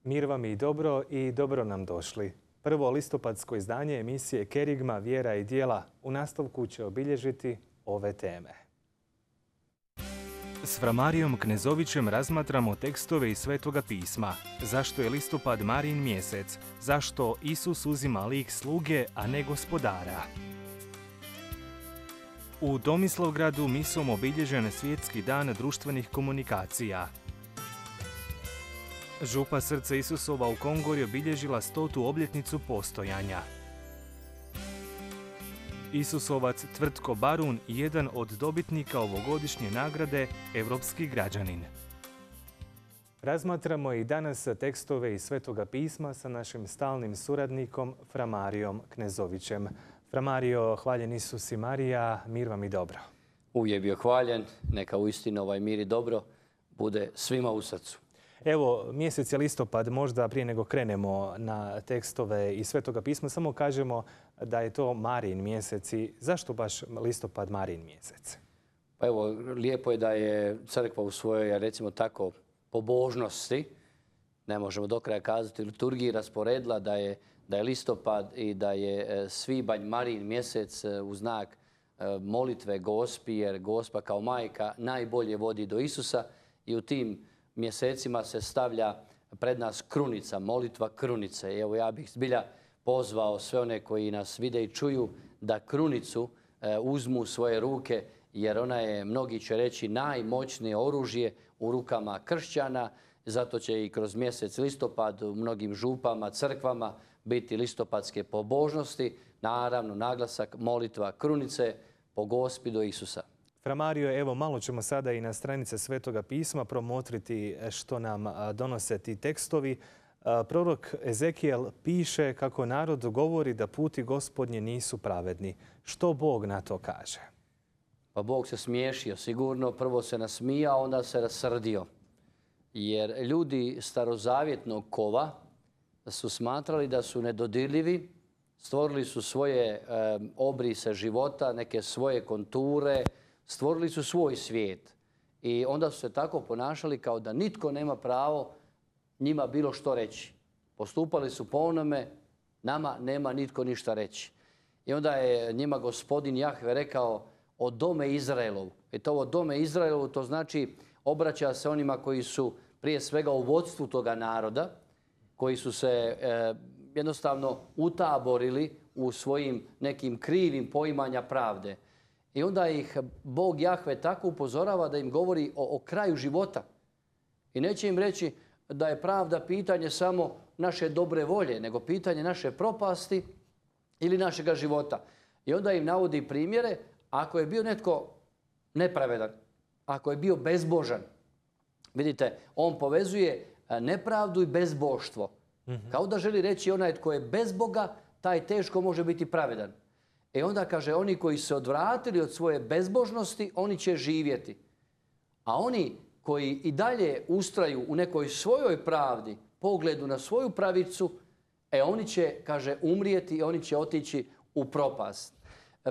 Mir vam i dobro nam došli. Prvo listopadsko izdanje emisije Kerigma, vjera i djela u nastavku će obilježiti ove teme. S Framarijom Knezovićem razmatramo tekstove iz Svetoga pisma. Zašto je listopad Marijin mjesec? Zašto Isus uzima lik sluge, a ne gospodara? U Tomislavgradu misom obilježen Svjetski dan društvenih komunikacija. Župa Srce Isusova u Kongori obilježila 100. obljetnicu postojanja. Isusovac Tvrtko Barun, jedan od dobitnika ovogodišnje nagrade Europski građanin. Razmatramo i danas tekstove iz Svetoga pisma sa našim stalnim suradnikom Framarijom Knezovićem. Framario, hvaljen Isus i Marija, mir vam i dobro. Uvijek bio hvaljen, neka uistinu ovaj mir i dobro bude svima u srcu. Evo, mjesec je listopad, možda prije nego krenemo na tekstove iz Svetoga pisma, samo kažemo da je to Marijin mjesec. I zašto baš listopad Marijin mjesec? Pa evo, lijepo je da je crkva u svojoj, recimo tako, pobožnosti, ne možemo do kraja kazati, liturgiji rasporedila da je listopad i da je svibanj Marijin mjesec u znak molitve Gospi, jer Gospa kao majka najbolje vodi do Isusa i u tim mjesecima se stavlja pred nas krunica, molitva krunice. I evo ja bih zbilja pozvao sve one koji nas vide i čuju da krunicu uzmu u svoje ruke, jer ona je, mnogi će reći, najmoćnije oružje u rukama kršćana. Zato će i kroz mjesec listopad u mnogim župama, crkvama biti listopadske pobožnosti. Naravno, naglasak molitva krunice po Gospi do Isusa. Framario, evo malo ćemo sada i na stranice Svetoga pisma promotriti što nam donose ti tekstovi. Prorok Ezekijel piše kako narod govori da puti Gospodnje nisu pravedni. Što Bog na to kaže? Pa Bog se smiješio sigurno, prvo se nasmijao, onda se rasrdio. Jer ljudi starozavjetnog kova su smatrali da su nedodirljivi, stvorili su svoje obrise života, neke svoje konture, stvorili su svoj svijet i onda su se tako ponašali kao da nitko nema pravo njima bilo što reći. Postupali su po onome, nama nema nitko ništa reći. I onda je njima gospodin Jahve rekao o dome Izraelovu. I to o dome Izraelovu, to znači obraća se onima koji su prije svega u vodstvu toga naroda, koji su se jednostavno utaborili u svojim nekim krivim poimanja pravde. I onda ih Bog Jahve tako upozorava da im govori o kraju života. I neće im reći da je pravda pitanje samo naše dobre volje, nego pitanje naše propasti ili našega života. I onda im navodi primjere, ako je bio netko nepravedan, ako je bio bezbožan. Vidite, on povezuje nepravdu i bezboštvo. Kao da želi reći onaj tko je bez Boga, taj teško može biti pravedan. I onda kaže, oni koji se odvratili od svoje bezbožnosti, oni će živjeti. A oni koji i dalje ustraju u nekoj svojoj pravdi, pogledu na svoju pravicu, oni će, kaže, umrijeti i oni će otići u propast.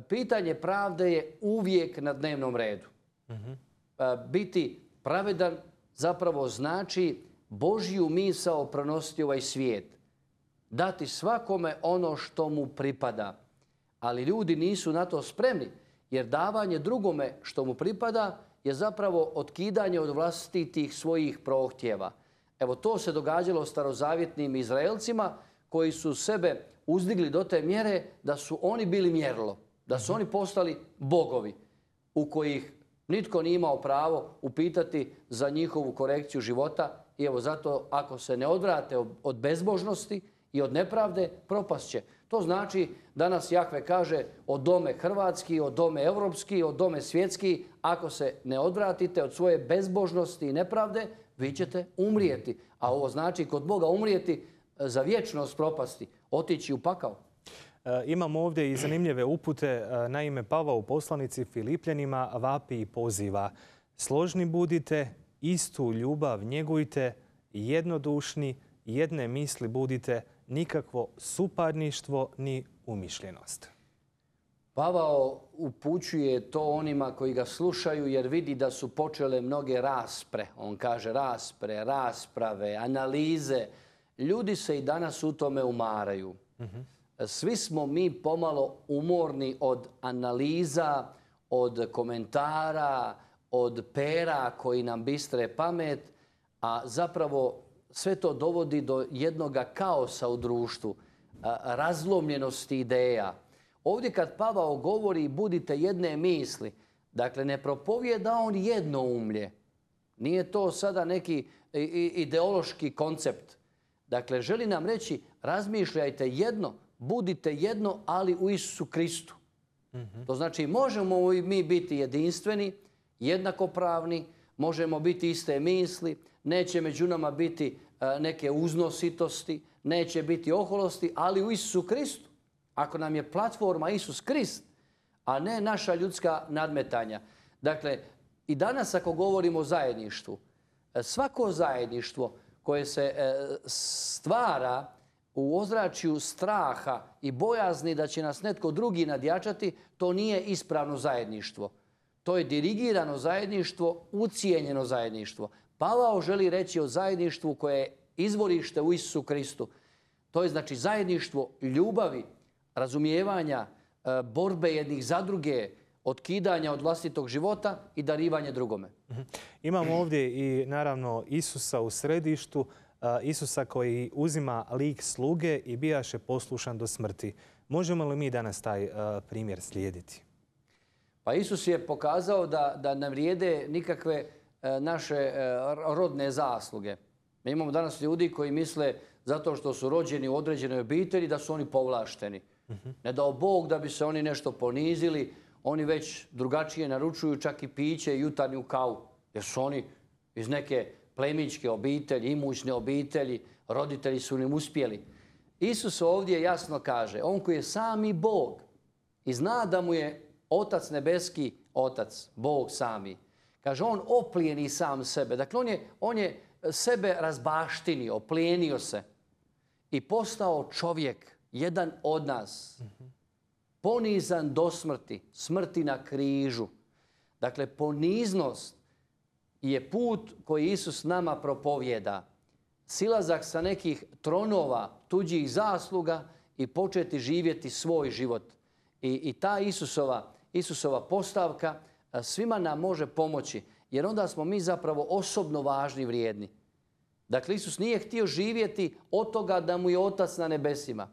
Pitanje pravde je uvijek na dnevnom redu. Biti pravedan zapravo znači Božju misao pronositi ovaj svijet. Dati svakome ono što mu pripada. Ali ljudi nisu na to spremni, jer davanje drugome što mu pripada je zapravo otkidanje od vlastitih svojih prohtjeva. Evo, to se događalo starozavjetnim Izraelcima koji su sebe uzdigli do te mjere da su oni bili mjerilo, da su oni postali bogovi u kojih nitko nije imao pravo upitati za njihovu korekciju života. I evo zato ako se ne odvrate od bezbožnosti i od nepravde, propast će. To znači, danas Jahve kaže, o dome hrvatski, o dome europski, o dome svjetski, ako se ne odvratite od svoje bezbožnosti i nepravde, vi ćete umrijeti. A ovo znači kod Boga umrijeti za vječnost propasti, otići u pakao. Imamo ovdje i zanimljive upute. Naime, Pavao u poslanici Filipljanima vapi i poziva: složni budite, istu ljubav njegujte, jednodušni, jedne misli budite, nikakvo suparništvo ni umišljenost. Pavao upućuje to onima koji ga slušaju jer vidi da su počele mnoge raspre. On kaže raspre, rasprave, analize Ljudi se i danas u tome umaraju. Svi smo mi pomalo umorni od analiza, od komentara, od pera koji nam bistre pamet, a zapravo sve to dovodi do jednoga kaosa u društvu, razlomljenosti ideja. Ovdje kad Pavao govori budite jedne misli, dakle ne propovijeda on jednoumlje. Nije to sada neki ideološki koncept. Dakle, želi nam reći razmišljajte jedno, budite jedno, ali u Isusu Kristu. To znači možemo mi biti jedinstveni, jednakopravni, možemo biti iste misli, neće među nama biti neke uznositosti, neće biti oholosti, ali u Isusu Kristu. Ako nam je platforma Isus Krist, a ne naša ljudska nadmetanja. Dakle, i danas ako govorimo o zajedništvu, svako zajedništvo koje se stvara u ozračju straha i bojazni da će nas netko drugi nadjačati, to nije ispravno zajedništvo. To je dirigirano zajedništvo, ucijenjeno zajedništvo. Pavao želi reći o zajedništvu koje je izvorište u Isusu Kristu. To je znači zajedništvo ljubavi, razumijevanja, borbe jednih za druge, otkidanja od vlastitog života i darivanje drugome. Imamo ovdje i naravno Isusa u središtu, Isusa koji uzima lik sluge i bijaše poslušan do smrti. Možemo li mi danas taj primjer slijediti? Pa Isus je pokazao da ne vrijede nikakve naše rodne zasluge. Mi imamo danas ljudi koji misle zato što su rođeni u određenoj obitelji da su oni povlašteni. Ne dao Bog da bi se oni nešto ponizili, oni već drugačije naručuju čak i piće i jutarnju kavu. Jer su oni iz neke plemićke obitelji, imućne obitelji, roditelji su im uspjeli. Isus ovdje jasno kaže, on koji je sami Bog i zna da mu je Otac nebeski, Otac, Bog sami. Kaže, on oplijeni sam sebe. Dakle, on je sebe razbaštinio, oplijenio se i postao čovjek, jedan od nas. Ponizan do smrti, smrti na križu. Dakle, poniznost je put koji Isus nama propovjeda. Silazak sa nekih tronova, tuđih zasluga i početi živjeti svoj život. I ta Isusova postavka svima nam može pomoći, jer onda smo mi zapravo osobno važni i vrijedni. Dakle, Isus nije htio živjeti od toga da mu je Otac na nebesima.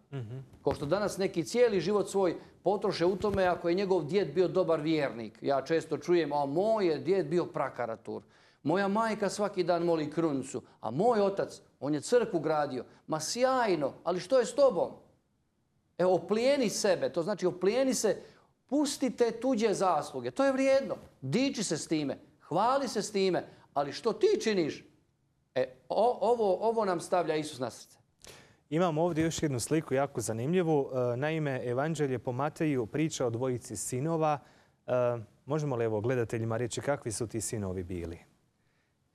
Kao što danas neki cijeli život svoj potroše u tome ako je njegov djed bio dobar vjernik. Ja često čujem, a moj je djed bio prakaratur. Moja majka svaki dan moli krunicu, a moj otac, on je crkvu gradio. Ma sjajno, ali što je s tobom? Evo, oplijeni sebe, to znači oplijeni se, pustite tuđe zasluge. To je vrijedno. Diči se s time, hvali se s time, ali što ti činiš? Ovo nam stavlja Isus na srce. Imamo ovdje još jednu sliku jako zanimljivu. Naime, Evanđelje po Mateju priča o dvojici sinova. Možemo li gledateljima reći kakvi su ti sinovi bili?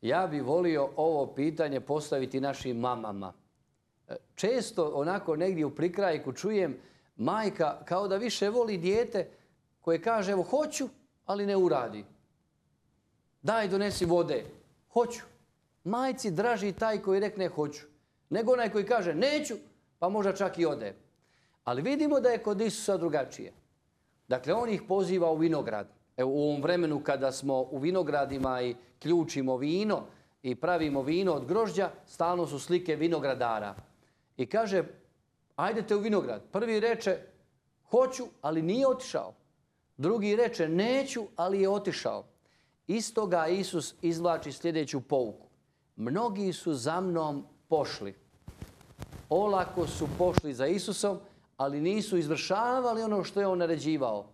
Ja bih volio ovo pitanje postaviti našim mamama. Često onako negdje u prikrajku čujem majka kao da više voli dijete koje kaže evo hoću, ali ne uradi. Daj donesi vode. Hoću. Majci draži taj koji rekne hoću, nego onaj koji kaže neću, pa možda čak i ode. Ali vidimo da je kod Isusa drugačije. Dakle, on ih poziva u vinograd. Evo, u ovom vremenu kada smo u vinogradima i ključimo vino i pravimo vino od grožđa, stalno su slike vinogradara. I kaže, ajdete u vinograd. Prvi reče, hoću, ali nije otišao. Drugi reče, neću, ali je otišao. Iz toga Isus izvlači sljedeću pouku. Mnogi su za mnom pošli. Olako su pošli za Isusom, ali nisu izvršavali ono što je on naređivao.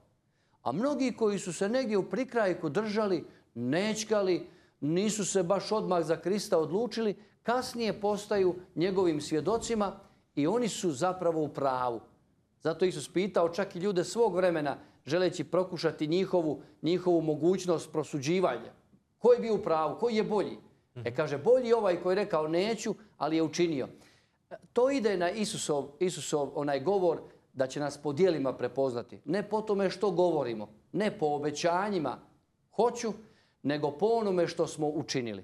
A mnogi koji su se negdje u prikrajku držali, nečkali, nisu se baš odmah za Krista odlučili, kasnije postaju njegovim svjedocima i oni su zapravo u pravu. Zato Isus pitao čak i ljude svog vremena, želeći prokušati njihovu mogućnost prosuđivanja. Ko je bio u pravu? Koji je bolji? Kaže, bolji ovaj koji je rekao neću, ali je učinio. To ide na Isusov onaj govor da će nas po djelima prepoznati. Ne po tome što govorimo, ne po obećanjima hoću, nego po onome što smo učinili.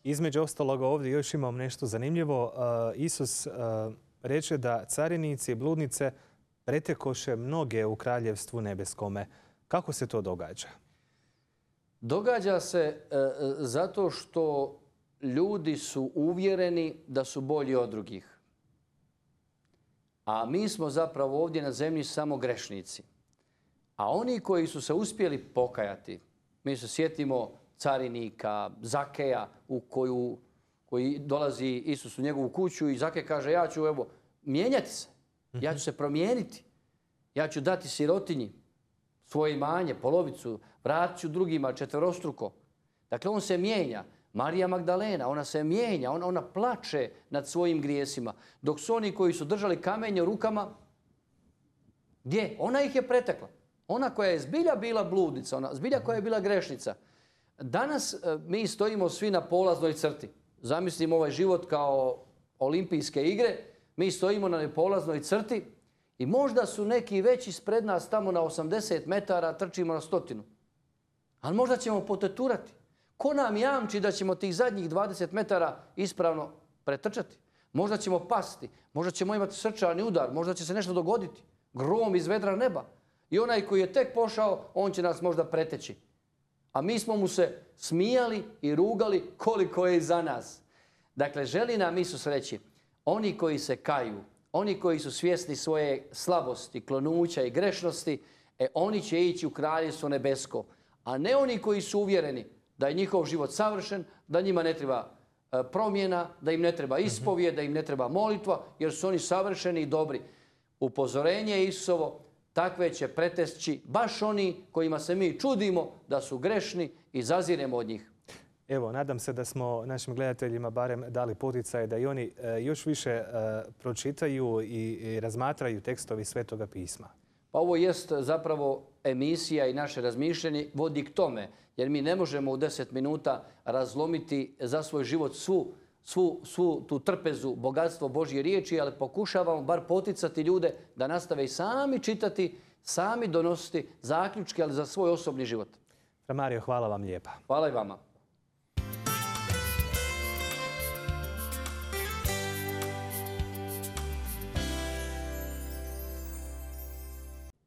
Između ostaloga ovdje još imam nešto zanimljivo. Isus reče da carinici i bludnice pretekoše mnoge u kraljevstvu nebeskome. Kako se to događa? Događa se zato što ljudi su uvjereni da su bolji od drugih. A mi smo zapravo ovdje na zemlji samo grešnici. A oni koji su se uspjeli pokajati, mi se sjetimo carinika, Zakeja, koji dolazi Isus u njegovu kuću i Zakej kaže ja ću mijenjati se, ja ću se promijeniti, ja ću dati sirotinji svoje imanje, polovicu, vratit ću drugima četverostruko. Dakle, on se mijenja. Marija Magdalena, ona se mijenja, ona plače nad svojim grijesima. Dok su oni koji su držali kamenje u rukama, gdje? Ona ih je pretekla. Ona koja je zbilja bila bludnica, ona zbilja koja je bila grešnica. Danas mi stojimo svi na polaznoj crti. Zamislimo ovaj život kao olimpijske igre. Mi stojimo na polaznoj crti i možda su neki već ispred nas tamo na 80 metara, trčimo na 100. Ali možda ćemo poteturati. Ko nam jamči da ćemo tih zadnjih 20 metara ispravno pretrčati? Možda ćemo pasti, možda ćemo imati srčani udar, možda će se nešto dogoditi. Grom iz vedra neba. I onaj koji je tek pošao, on će nas možda preteći. A mi smo mu se smijali i rugali koliko je iza nas. Dakle, želi nam Isus reći, oni koji se kaju, oni koji su svjesni svoje slabosti, klonuća i grešnosti, oni će ići u kraljevstvo nebesko. A ne oni koji su uvjereni da je njihov život savršen, da njima ne treba promjena, da im ne treba ispovijed, da im ne treba molitva, jer su oni savršeni i dobri. Upozorenje Isusovo, takve će pretešći baš oni kojima se mi čudimo da su grešni i zaziremo od njih. Evo, nadam se da smo našim gledateljima barem dali poticaj da i oni još više pročitaju i razmatraju tekstovi Svetoga pisma. Pa ovo jest zapravo emisija i naše razmišljanje vodi k tome, jer mi ne možemo u 10 minuta razlomiti za svoj život svu tu trpezu, bogatstvo Božje riječi, ali pokušavamo bar poticati ljude da nastave i sami čitati, sami donositi zaključke, ali za svoj osobni život. Fra Mario, hvala vam lijepa. Hvala i vama.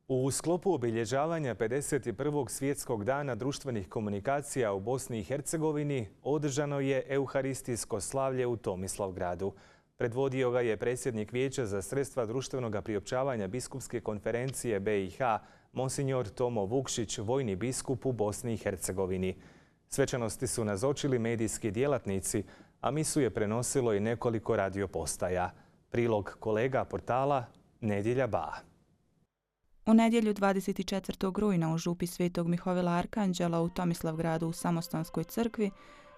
U sklopu obilježavanja 51. svjetskog dana društvenih komunikacija u Bosni i Hercegovini održano je euharistijsko slavlje u Tomislavgradu. Predvodio ga je predsjednik Vijeća za sredstva društvenog priopćavanja Biskupske konferencije BiH, monsignor Tomo Vukšić, vojni biskup u Bosni i Hercegovini. Svečanosti su nazočili medijski djelatnici, a misu je prenosilo i nekoliko radiopostaja. Prilog kolega portala Nedjelja Ba. U nedjelju 24. rujna u župi Svetog Mihovila Arkanđela u Tomislavgradu u Samostanskoj crkvi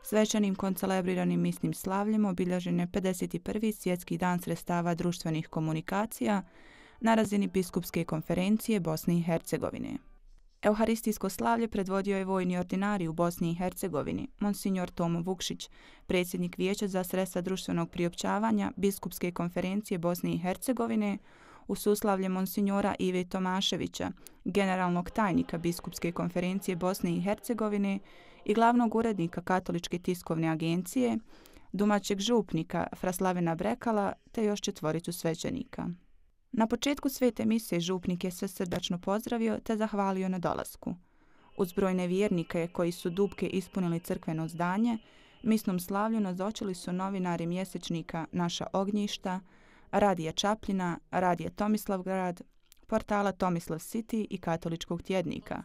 svečanim koncelebriranim misnim slavljem obilježen je 51. svjetski dan sredstava društvenih komunikacija na razini Biskupske konferencije Bosne i Hercegovine. Euharistijsko slavlje predvodio je vojni ordinarij u Bosni i Hercegovini, monsignor Tomo Vukšić, predsjednik Vijeća za sredstva društvenog priopćavanja Biskupske konferencije Bosne i Hercegovine, u suslavlje monsignora Ive Tomaševića, generalnog tajnika Biskupske konferencije Bosne i Hercegovine i glavnog urednika Katoličke tiskovne agencije, domaćeg župnika fra Slavena Brekala te još 4 svećenika. Na početku svete mise župnik je sve srdačno pozdravio te zahvalio na dolasku. Uz brojne vjernike koji su dupke ispunili crkveno zdanje, misnom slavlju nazočili su novinari mjesečnika Naša ognjišta, Radija Čapljina, Radija Tomislavgrad, portala Tomislav City i Katoličkog tjednika,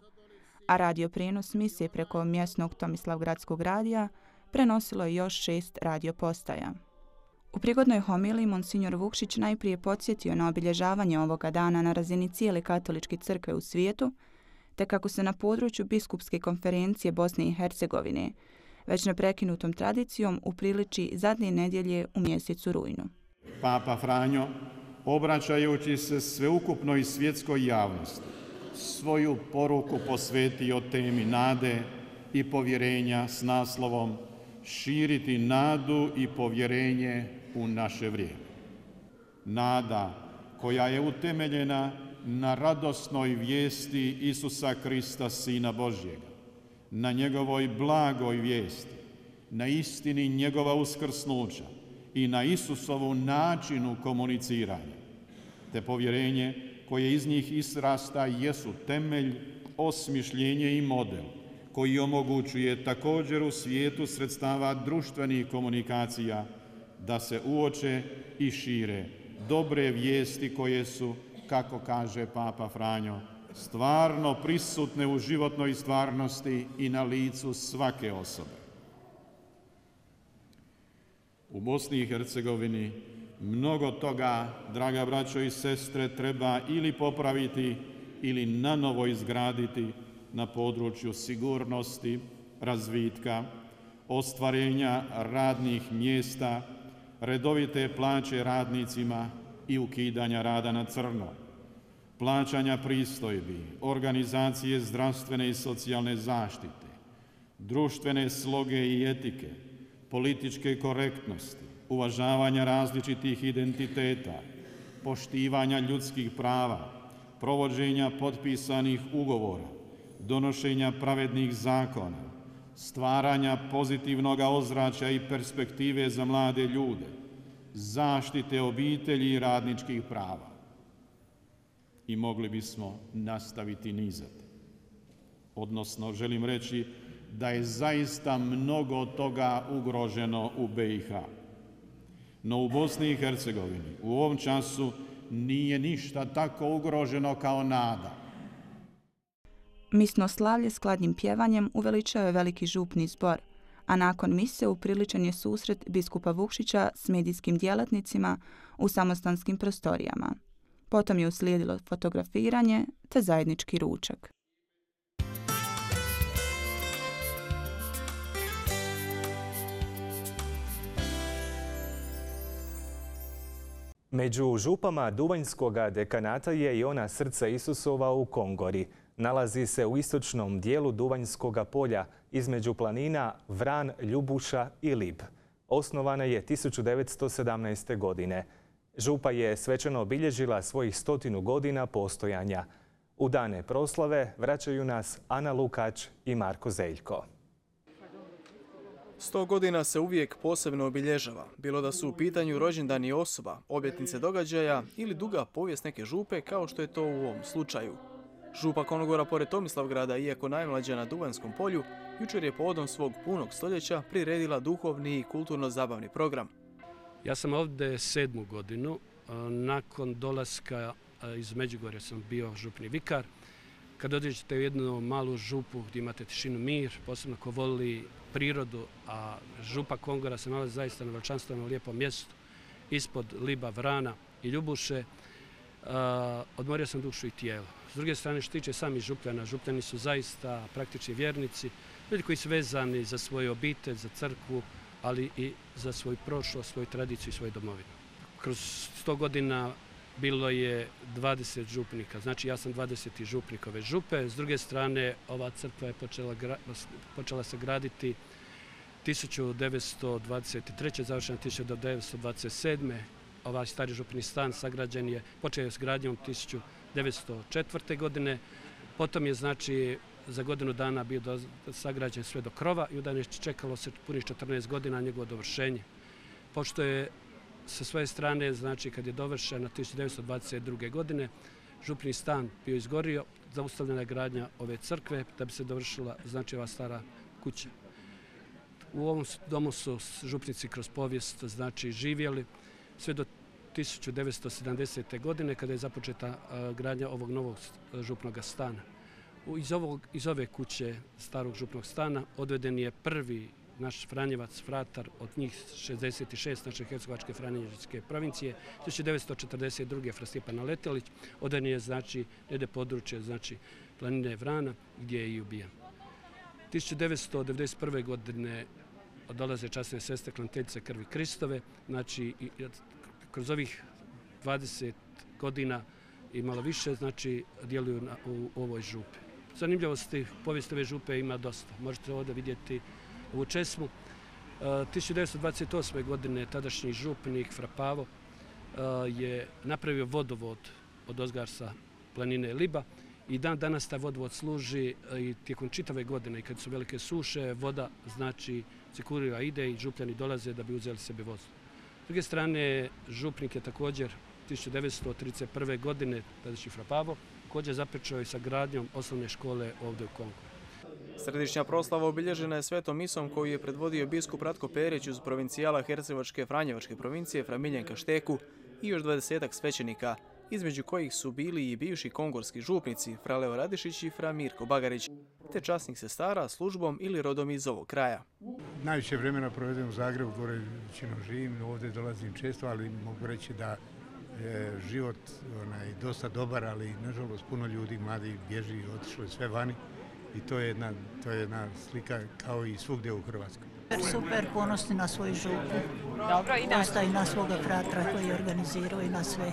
a radio prijenos misije preko mjesnog Tomislavgradskog radija prenosilo je još 6 radiopostaja. U prigodnoj homiliji monsignor Vukšić najprije podsjetio na obilježavanje ovoga dana na razini cijele katoličke crkve u svijetu, te kako se na području Biskupske konferencije Bosne i Hercegovine već neprekinutom tradicijom upriliči zadnje nedjelje u mjesecu rujnu. Papa Franjo, obraćajući se sveukupnoj svjetskoj javnosti, svoju poruku posvetio temi nade i povjerenja s naslovom širiti nadu i povjerenje u naše vrijeme. Nada koja je utemeljena na radosnoj vijesti Isusa Krista, Sina Božjega, na njegovoj blagoj vijesti, na istini njegova uskrsnuća i na Isusovu načinu komuniciranja, te povjerenje koje iz njih izrasta jesu temelj, osmišljenje i model koji omogućuje također u svijetu sredstava društvenih komunikacija da se uoče i šire dobre vijesti koje su, kako kaže Papa Franjo, stvarno prisutne u životnoj stvarnosti i na licu svake osobe. U Bosni i Hercegovini mnogo toga, draga braćo i sestre, treba ili popraviti ili nanovo izgraditi na području sigurnosti, razvitka, ostvarenja radnih mjesta, redovite plaće radnicima i ukidanja rada na crno, plaćanja pristojbi, organizacije zdravstvene i socijalne zaštite, društvene sloge i etike, političke korektnosti, uvažavanja različitih identiteta, poštivanja ljudskih prava, provođenja potpisanih ugovora, donošenja pravednih zakona, stvaranja pozitivnog ozračja i perspektive za mlade ljude, zaštite obitelji i radničkih prava. I mogli bismo nastaviti nizati. Odnosno, želim reći da je zaista mnogo toga ugroženo u BiH. No u Bosni i Hercegovini u ovom času nije ništa tako ugroženo kao nada. Misno slavlje s kladnim pjevanjem uveličao je veliki župni zbor, a nakon mise upriličen je susret biskupa Vukšića s medijskim djelatnicima u samostanskim prostorijama. Potom je uslijedilo fotografiranje te zajednički ručak. Među župama Duvanjskoga dekanata je i ona Srce Isusova u Kongori. Nalazi se u istočnom dijelu Duvanjskoga polja između planina Vran, Ljubuša i Lib. Osnovana je 1917. godine. Župa je svečano obilježila svojih 100 godina postojanja. U dane proslave vraćaju nas Ana Lukač i Marko Zeljko. 100 godina se uvijek posebno obilježava, bilo da su u pitanju rođendani osoba, obljetnice događaja ili duga povijest neke župe, kao što je to u ovom slučaju. Župa Konogora, pored Tomislavgrada, iako najmlađa na Duvanjskom polju, jučer je povodom svog punog stoljeća priredila duhovni i kulturno-zabavni program. Ja sam ovdje 7. godinu. Nakon dolaska iz Međugorja sam bio župni vikar. Kad određete u jednu malu župu gdje imate tišinu, mir, posebno ko voli prirodu, a župa Kongora se nalazi zaista na veličanstvenom lijepom mjestu, ispod Liba, Vrana i Ljubuše, odmorio sam dušu i tijelo. S druge strane, što tiče samih župljana, župljani su zaista praktični vjernici, ljudi koji su vezani za svoju obitelj, za crkvu, ali i za svoju prošlost, svoju tradiciju i svoju domovinu. Kroz 100 godina bilo je 20 župnika, znači ja sam 20. župnik ove župe. S druge strane, ova crkva je počela se graditi 1923. završena 1927. Ovaj stari župni stan sagrađen je, počeo je s gradnjom 1904. godine. Potom je, znači, za godinu dana bio sagrađen sve do krova i onda je čekalo se punih 14 godina njegovo dovršenje. Pošto je sa svoje strane, znači, kad je dovršena 1922. godine, župni stan bio izgorio, zaustavljena je gradnja ove crkve da bi se dovršila, znači, ova stara kuća. U ovom domu su župnici kroz povijest, znači, živjeli sve do 1970. godine kada je započeta gradnja ovog novog župnog stana. Iz ove kuće starog župnog stana odveden je prvi naš Franjevac, fratar, od njih 66 naše hercegovačke franjevačke provincije, 1942. Fra Stjepan Letelić, odveden je, znači, nede područje, znači, planine Vrana, gdje je i ubijen. 1991. godine dolaze časne sestre Klanteljice krvi Kristove, znači, kroz ovih 20 godina i malo više, znači, djeluju u ovoj župi. Zanimljivosti povijesti ove župe ima dosta. Možete ovdje vidjeti ovu česmu. 1928. godine tadašnji župnik Fra Pavo je napravio vodovod od ozgar sa planine Liba I dan danas taj vodovod služi i tijekom čitave godine, i kad su velike suše, voda znači cirkulira ide i župljani dolaze da bi uzeli sebi vodu. S druge strane, župnik je također 1931. godine, tadašnji Fra Pavo, također započeo i sa gradnjom osnovne škole ovdje u Kongoru. Središnja proslava obilježena je svetom misom koju je predvodio biskup Ratko Perić uz provincijala Hercegovačke Franjevačke provincije Fra Miljenka Šteku i još 20-ak svećenika, između kojih su bili i bivši kongorski župnici Fra Leo Radišić i Fra Mirko Bagarić, te časnih sestara službom ili rodom iz ovog kraja. Najviše vremena provedem u Zagrebu, gore većinom živim, ovdje dolazim često, ali mogu reći da je život dosta dobar, ali nažalost puno ljudi mladi bježi, otišlo je sve vani i to je jedna slika kao i svugdje u Hrvatskoj. Super, ponosni na svoju župu. Dobro, i dosta i na svoga fratra koji je organizirao i na sve.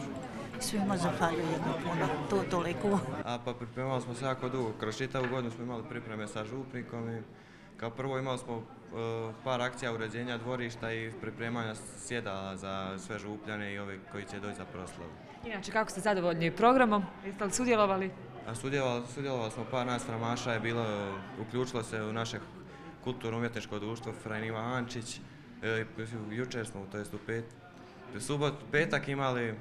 Svima zahvaljujemo puno, to toliko. Pa pripremali smo se jako dugo, kroz čitavu godinu smo imali pripreme sa župnikom i kao prvo imali smo par akcija uređenja dvorišta i pripremanja sjedala za sve župljane i ove koji će doći za proslavu. Inače, kako ste zadovoljni programom? Jeste li sudjelovali? Sudjelovali smo, par nas framaša je bilo, uključilo se u naše kulturno-umjetničko društvo Fra Iva Ančić. Jučer smo, to jest u petak imali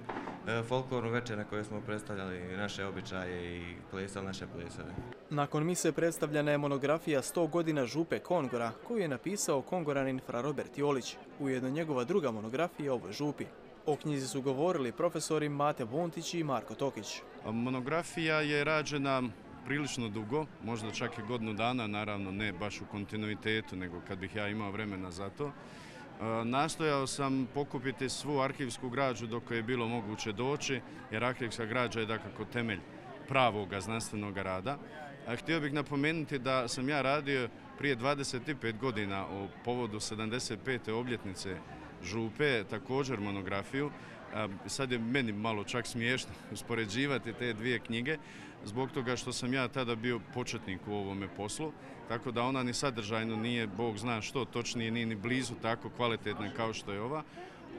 folklornu večer na kojoj smo predstavljali naše običaje i plesali naše plesove. Nakon mise predstavljena je monografija 100 godina župe Kongora koju je napisao kongoranin Fra Robert Jolić, ujedno njegova druga monografija o ovoj župi. O knjizi su govorili profesori Mate Buntić i Marko Tokić. Monografija je rađena prilično dugo, možda čak i godinu dana, naravno ne baš u kontinuitetu, nego kad bih ja imao vremena za to. Nastojao sam pokupiti svu arhivsku građu do koje je bilo moguće doći, jer arhivska građa je dakako temelj pravoga znanstvenog rada. Htio bih napomenuti da sam ja radio prije 25 godina o povodu 75. obljetnice župe, također monografiju. Sad je meni malo čak smiješno uspoređivati te dvije knjige, zbog toga što sam ja tada bio početnik u ovome poslu, tako da ona ni sadržajno nije, Bog zna što, točnije nije ni blizu tako kvalitetna kao što je ova.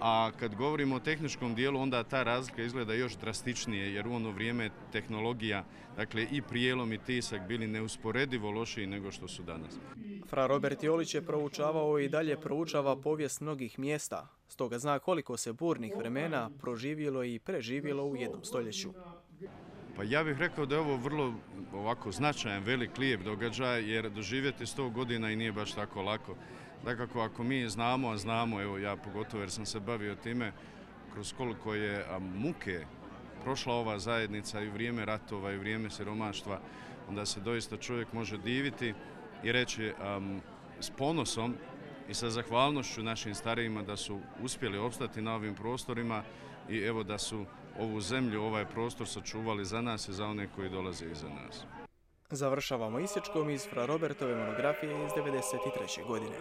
A kad govorimo o tehničkom dijelu, onda ta razlika izgleda još drastičnije, jer u ono vrijeme tehnologija, dakle i prijelom i tisak bili neusporedivo lošiji nego što su danas. Fra Robert Jolić je proučavao i dalje proučava povijest mnogih mjesta, stoga zna koliko se burnih vremena proživjelo i preživjelo u jednom stoljeću. Pa ja bih rekao da je ovo vrlo ovako značajan, velik, lijep događaj, jer doživjeti 100 godina i nije baš tako lako. Dakako, ako mi znamo, a znamo, evo ja pogotovo jer sam se bavio time, kroz koliko je muke prošla ova zajednica i vrijeme ratova i vrijeme siromaštva, onda se doista čovjek može diviti i reći s ponosom i sa zahvalnošću našim starijima da su uspjeli opstati na ovim prostorima i evo da su ovu zemlju, ovaj prostor sačuvali za nas i za one koji dolaze iza nas. Završavamo isječkom iz Fra Robertove monografije iz 1993. godine.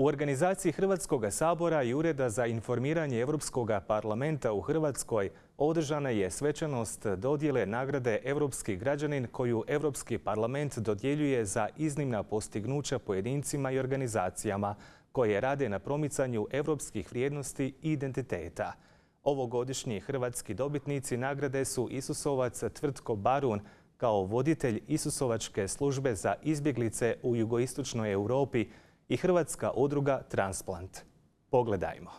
U organizaciji Hrvatskog sabora i Ureda za informiranje Europskog parlamenta u Hrvatskoj održana je svečanost dodjele nagrade Europski građanin koju Europski parlament dodjeljuje za iznimna postignuća pojedincima i organizacijama koje rade na promicanju europskih vrijednosti i identiteta. Ovogodišnji hrvatski dobitnici nagrade su Isusovac Tvrtko Barun kao voditelj Isusovačke službe za izbjeglice u jugoistočnoj Europi i Hrvatska udruga Transplant. Pogledajmo.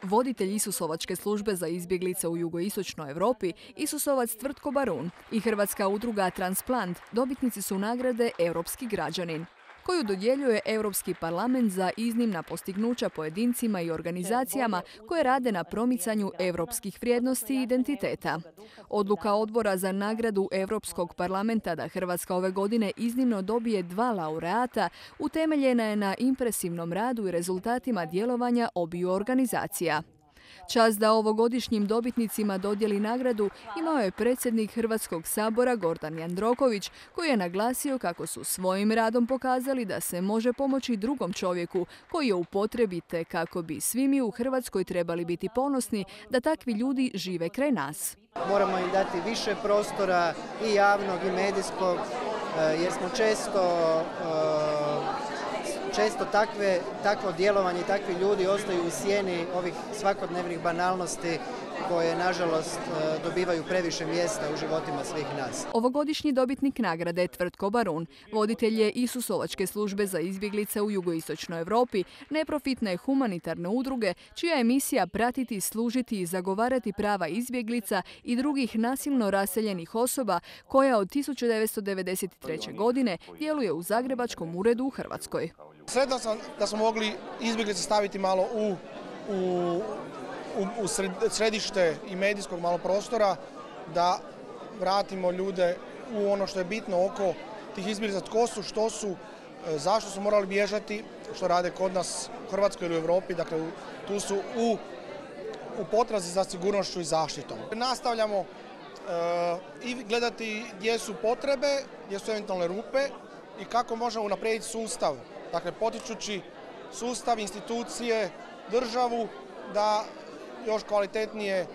Voditelj Isusovačke službe za izbjeglice u jugoistočnoj Europi, Isusovac Tvrtko Barun i Hrvatska udruga Transplant dobitnici su nagrade Europski građanin. koju dodjeljuje Europski parlament za iznimna postignuća pojedincima i organizacijama koje rade na promicanju europskih vrijednosti i identiteta. Odluka Odbora za nagradu Europskog parlamenta da Hrvatska ove godine iznimno dobije 2 laureata utemeljena je na impresivnom radu i rezultatima djelovanja obiju organizacija. Čast da ovogodišnjim dobitnicima dodijeli nagradu imao je predsjednik Hrvatskog sabora Gordan Jandroković, koji je naglasio kako su svojim radom pokazali da se može pomoći drugom čovjeku koji je u potrebi, te kako bi svi mi u Hrvatskoj trebali biti ponosni da takvi ljudi žive kraj nas. Moramo im dati više prostora i javnog i medijskog, jer smo često takvo djelovanje i takvi ljudi ostaju u sjeni ovih svakodnevnih banalnosti koje, nažalost, dobivaju previše mjesta u životima svih nas. Ovogodišnji dobitnik nagrade Tvrtko Barun, voditelj je Isusovačke službe za izbjeglice u jugoistočnoj Europi, neprofitne humanitarne udruge, čija je misija pratiti, služiti i zagovarati prava izbjeglica i drugih nasilno raseljenih osoba, koja od 1993. godine djeluje u Zagrebačkom uredu u Hrvatskoj. Sretan sam da smo mogli izbjeglice staviti malo u središte i medijskog malo prostora, da vratimo ljude u ono što je bitno oko tih izbjeglica, tko su, što su, zašto su morali bježati, što rade kod nas u Hrvatskoj ili u Europi, dakle tu su u potrazi za sigurnošću i zaštitom. Nastavljamo i gledati gdje su potrebe, gdje su eventualne rupe i kako možemo unaprijediti sustav. Dakle, potičući sustav, institucije, državu da još kvalitetnije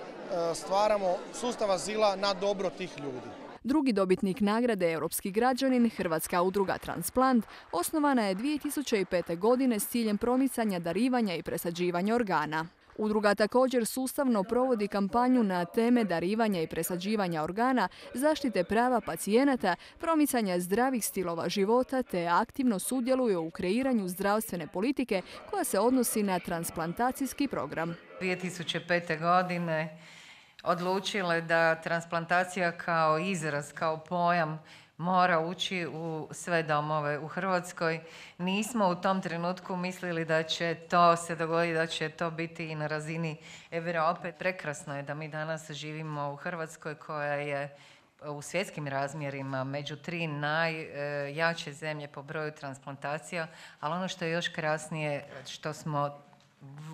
stvaramo sustav azila na dobro tih ljudi. Drugi dobitnik nagrade Europski građanin, Hrvatska udruga Transplant, osnovana je 2005. godine s ciljem promicanja darivanja i presađivanja organa. Udruga također sustavno provodi kampanju na teme darivanja i presađivanja organa, zaštite prava pacijenata, promicanja zdravih stilova života te aktivno sudjeluje u kreiranju zdravstvene politike koja se odnosi na transplantacijski program. 2005. godine odlučile da transplantacija kao izraz, kao pojam mora ući u sve domove u Hrvatskoj. Nismo u tom trenutku mislili da će to se dogoditi, da će to biti i na razini Europe. Prekrasno je da mi danas živimo u Hrvatskoj koja je u svjetskim razmjerima među 3 najjače zemlje po broju transplantacija, ali ono što je još krasnije, što smo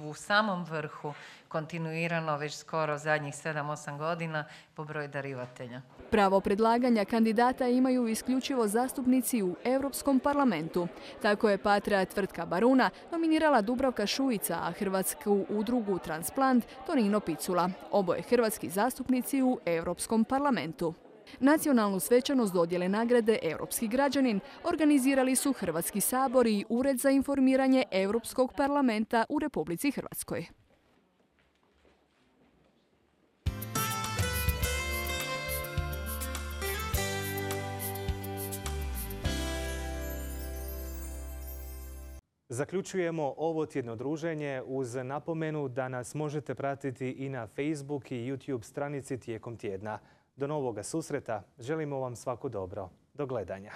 u samom vrhu kontinuirano već skoro zadnjih 7-8 godina po broju darivatelja. Pravo predlaganja kandidata imaju isključivo zastupnici u Europskom parlamentu. Tako je Patra Tvrtka Baruna nominirala Dubravka Šuica, a Hrvatsku udrugu Transplant Tonino Picula. Oboje hrvatski zastupnici u Europskom parlamentu. Nacionalnu svečanost dodjele nagrade Europski građanin organizirali su Hrvatski sabor i Ured za informiranje Europskog parlamenta u Republici Hrvatskoj. Zaključujemo ovo tjedno druženje uz napomenu da nas možete pratiti i na Facebook i YouTube stranici tijekom tjedna. Do novoga susreta, želimo vam svako dobro. Do gledanja.